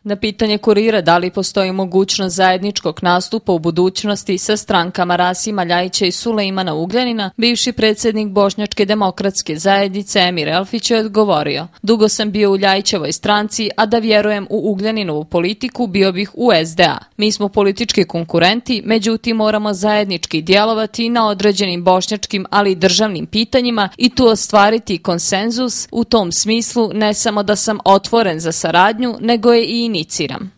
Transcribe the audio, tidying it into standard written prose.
Na pitanje Kurira da li postoji mogućnost zajedničkog nastupa u budućnosti sa strankama Rasima Ljajića i Sulejmana Ugljanina, bivši predsjednik Bošnjačke demokratske zajednice Emir Elfić je odgovorio: "Dugo sam bio u Ljajićevoj stranci, a da vjerujem u Ugljaninovu politiku bio bih u SDA. Mi smo politički konkurenti, međutim moramo zajednički djelovati na određenim bošnjačkim, ali i državnim pitanjima i tu ostvariti konsenzus. U tom smislu ne samo da sam otvoren za saradnju, nego je i iniciram."